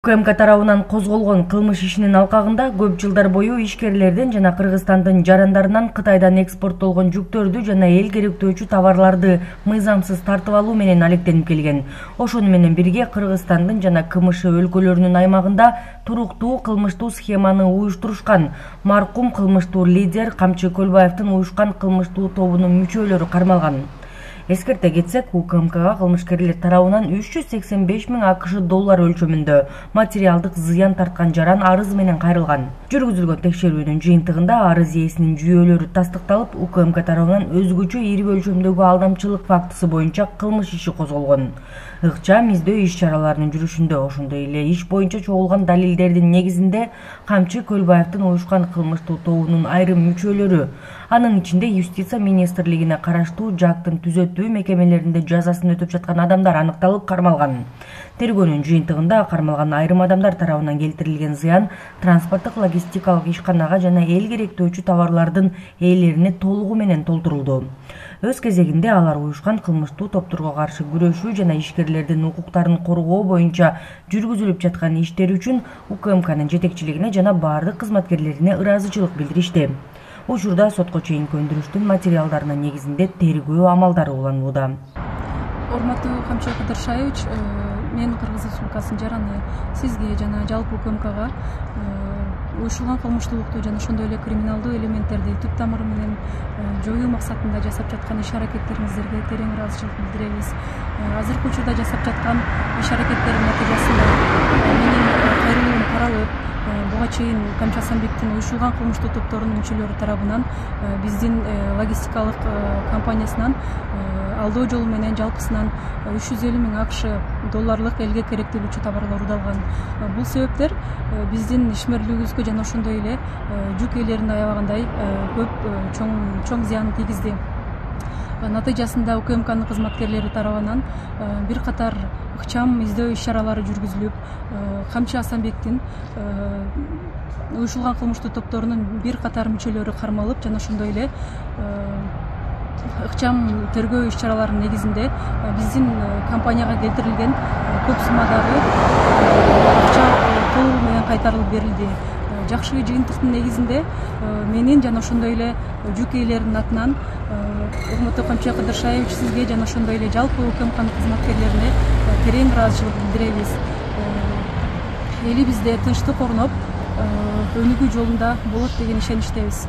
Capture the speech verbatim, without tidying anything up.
УКМК тарабынан козголгон кылмыш ишинин алкагында көп жылдар бою ишкерлерден жана Кыргызстандын жарандарынан Кытайдан экспорттолгон жүктөрдү жана эл керектөөчү товарларды мыйзамсыз тартып алуу менен алектенип келген. Ошону менен бирге Кыргызстандын жана КМШ өлкөлөрүнүн аймагында туруктуу кылмыштуу схеманы уюштурушкан маркум кылмыштуу лидер Камчы Көлбаевдин уюшкан кылмыштуу тобунун мүчөлөрү кармалган. Эскерте кетсек, УКМКга кылмышкерлер тарабынан үч жүз сексен беш миң АКШ доллар өлчөмүндө материалдык зыян тарткан жаран арыз менен кайрылган. Жүргүзүлгөн текшерүүнүн жыйынтыгында арыз ээсинин жүйөлөрү тастыкталып, УКМК тарабынан өзгөчө ири өлчөмдөгү алдамчылык фактысы боюнча кылмыш иши козголгон. Ыкчам издөө иш-чараларынын жүрүшүндө, ошондой эле иш боюнча чогулган далилдердин негизинде Камчы Көлбаевдин уюшкан кылмыштуу тобунун айрым мүчөлөрү, анын ичинде юстиция министрлигине караштуу жактын түзөтүү мекемелеринде жазасын өтөп жаткан адамдар аныкталып кармалган. Тергөөнүн жыйынтыгында кармалган айрым адамдар тарабынан келтирилген зыян транспорттук логистикалык ишканага жана эл керектөөчү товарлардын ээлерине толугу менен толтурулду. Өз кезегинде алар уюшкан кылмыштуу топторго каршы күрөшүү жана ишкерлердин укуктарын коргоо боюнча жүргүзүлүп жаткан иштер үчүн УКМКнын жетекчилигине жана бардык кызматкерлерине ыраазычылык билдиришти. Учурда сотко чейинки өндүрүштүн материалдарынын негизинде тергөө амалдары уланууда. Урматтуу Камчы Кыдыршаевич, мен Кыргыз Республикасынын жараны сизге жана жалпы УКМКга уюшулган кылмыштуулукту жана ошондой эле криминалдуу элементтерди түп тамыры менен жоюу максатында жасап жаткан иш-аракеттериңиздерге терең ыраазычылык билдиребиз. Азыркы учурда жасап жаткан иш-аракеттердин натыйжасында менин кайрылуум каралып, буга чейин Камчы Асанбектин уюшулган кылмыштуу топторунун мүчөлөрү тарабынан биздин логистикалык компаниясынан алдоо жолу менен жалпысынан үч жүз элүү миң АКШ долларлык элге керектелүүчү товарлар уурдалган. Бул себептер биздин ишмерлигибизге жана ошондой эле жүк ээлерин аябагандай көп чоң чоң зыянын тийгизди. Натыйжасында УКМКнын кызматкерлери тарабынан бир катар ыкчам издөө иш-чаралары жүргүзүлүп, Камчы Асанбектин уюшулган кылмыштуу топторунун бир катар мүчөлөрү кармалып жана ошондой эле ыкчам тергөө иш-чараларынын негизинде биздин компанияга келтирилген көп суммадагы акча толугу менен кайтарылып берилди. Жакшы жыйынтыктын негизинде менин жана ошондой эле жүк ээлеринин атынан урматтуу Камчы Кыдыршаевич, сизге жана ошондой эле жалпы УКМКнын кызматкерлерине терең ыраазычылык билдиребиз. Элибизде тынчтык орноп, өнүгүү жолунда болот деген ишеничтебиз.